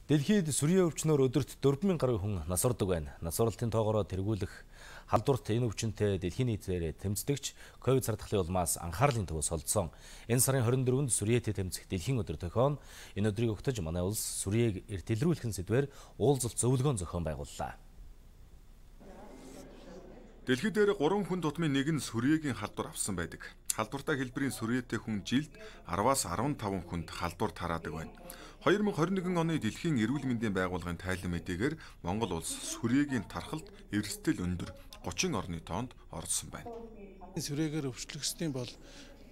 Дэлхийд сүрийн өвчнөөр өдөрт 4,000 гаруй хүн насвардаг байна. Насварлалтын тоогоороо тэргүүлэх халдварт энэ өвчнөд дэлхийн нийтээр тэмцдэгч ковид сардахлын улмаас анхаарлын төвөөс олдсон. Энэ сарын 24-нд сүрьеэтэй тэмцэх дэлхийн өдөр тохион энэ өдрийг өгтөж манай улс сүрьеэг эрт илрүүлэх сэдвээр уулзалт зөвлөгөөн зохион байгууллаа. Дэлхий дээр 3 хүн тутмын нэг нь сүрьегийн халдвар авсан байдаг. Халдвартай хэлбэрийн сүрьеэтэй хүн жилд 10-аас 15 хүнд халдвар тараадаг байна. 2021 оны Дэлхийн эрүүл мэндийн байгууллагын тайлан мэдээгээр Монгол улс сүрьегийн тархалт эрсдэл өндөр 30 орны тоонд орсон байна. Сүрьегээр өвчлөгсдийн бол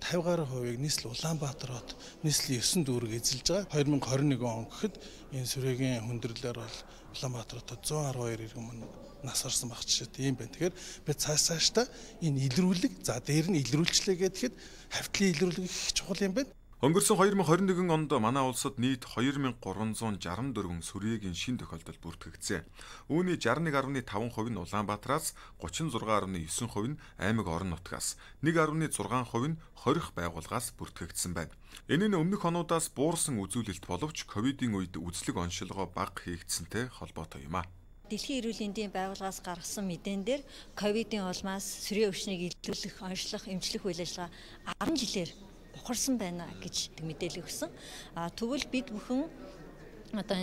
50 гаруй хувийг нийслэл Улаанбаатар хот нийслэлийн 9 дүүрэг эзэлж байгаа. 2021 он гэхэд энэ сүрьегийн хүндрэлээр бол Улаанбаатар хотод 112 иргэн мөн нас орсон баг жишээ тийм байна. Тэгэхээр бид цаашдаа энэ илрүүлэг за дээр нь илрүүлчлээ гэхэд хавтлын илрүүлэг их чухал юм байна. Өнгөрсөн 2021 онд манай улсад нийт 2364 сүрьегийн шин тохиолдол бүртгэгдсэн. Үүний 61.5% нь Улаанбаатараас, 36.9% нь аймаг орон нутгаас, 1.6% нь хорих байгууллагаас бүртгэгдсэн байна. Энэ нь өмнөх онуудаас буурсан үзүүлэлт боловч ковидын үед үзлэг оншилгоо бага хийгдсэнтэй холбоотой юм а. Дэлхийн эрүүл мэндийн байгууллагаас гаргасан мэдэн дээр ковидын улмаас сүрье өвчнийг илрүүлэх, онцлох, эмчлэх үйл ажиллагаа 10 жилээр ухарсан байна гэж мэдээлэл өгсөн. Тэгвэл бид бүхэн одоо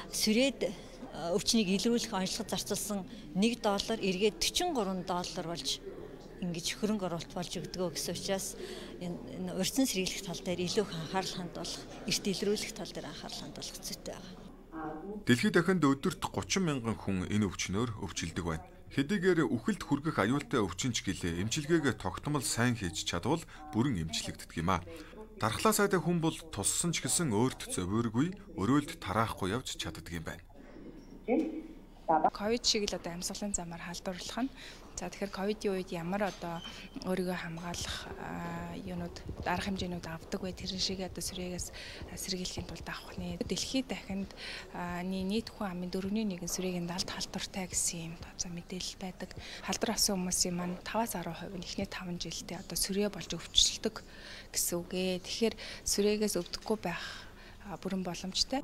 сүрьед өвчнийг илрүүлэх онцлоход зарцуулсан $1 эргээд $43 болж ингэж хөрөнгө оруулалт болж өгдөгөө гэсэн учраас энэ урьдчилан сэргийлэх тал дээр илүү анхаарал хандуулах, эрт илрүүлэх тал дээр анхаарал хандуулах зүйтэй байна. Дэлхийд дахинд өдөрт 30 мянган хүн энэ өвчнөөр өвчлөдөг байна. Хэдийгээр үхэлд хүргэх аюултай өвчнч гэлээ эмчилгээгээ тогтмол сайн хийж чадвал бүрэн эмчлэгддэг юм а. Дархлаа сайтай хүн бол туссан ч гэсэн өөрт зовиоргүй, өрөөлд тараахгүй явж чаддаг юм байна. Ковид шиг л одоо амьсгалын замаар халдварлах нь. За тэгэхээр ковидын үед ямар одоо өөрийгөө хамгаалах юунууд арга хэмжээнүүд авдаг вэ? Тэр шиг одоо сүрьеэгээс сэргийлэхийн тулд авах нэ. Дэлхийд дахинд нийт хүн амын 4/1 сүрьегийн далд халдвартай гэсэн юм мэдээлэл байдаг. Халдвар авсан хүмүүсийн маань 5-10% нь эхний 5 жилдээ одоо сүрье болж өвчлөлдөг гэсэн үг ээ. Тэгэхээр сүрьеэгээс өвдөхгүй байх бүрэн боломжтой.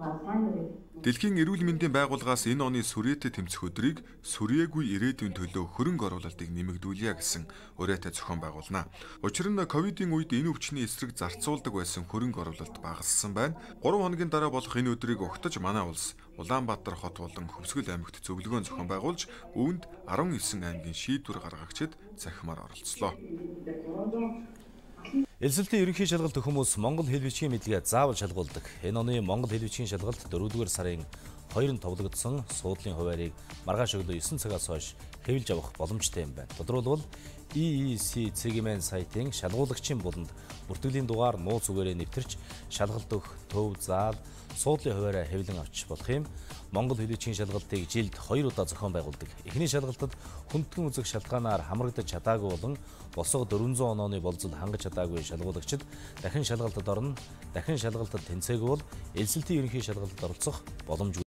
Дэлхийн эрүүл мэндийн байгууллагаас энэ оны сүрьеэтэй тэмцэх өдрийг сүрьеэгүй ирээдүйн төлөө хөрөнгө оруулалтыг нэмэгдүүлье гэсэн ураатай зохион байгуулна. Учир нь ковидын үед энэ өвчний эсрэг зарцуулдаг байсан хөрөнгө оруулалт багассан байна. 3 хоногийн дараа болох энэ өдрийг огтож манай улс Улаанбаатар хот болон Хөвсгөл аймагт зөвлөгөөн зохион байгуулж үүнд 19 аймгийн шийдвэр гаргагчид захимаар оролцлоо. Элсэлтийн ерөнхий шалгалт хүмүүс Монгол хэл бичгийн мэдлэгээ заавал шалгуулдаг. Энэ оны Монгол хэл бичгийн шалгалт 4-р сарын 2-нд товлогдсон суудлын хуваарийг маргааш өглөө 9 цагаас хойш хэвлэж авах боломжтой юм байна. Тодорхойлбол EEC цэгийн сайтын шалгуулагчийн буланд бүртгэлийн дугаар нууц үгээрээ нэвтэрч шалгалт өгөх төв заал суудлын хуваараа хэвлэн авч болох юм. Монгол хэл бичгийн шалгалтыг жилд 2 удаа зохион байгуулдаг. Эхний шалгалтад хүндхэн үзэх шалтгаанаар хамрагдаж чадаагүй болон босоо 400 онооны болзол хангаж чадаагүй шалгуулагчид дахин шалгалтад орно. Дахин шалгалтад тэнцээгүй бол элсэлтийн ерөнхий шалгалтад оролцох боломжгүй.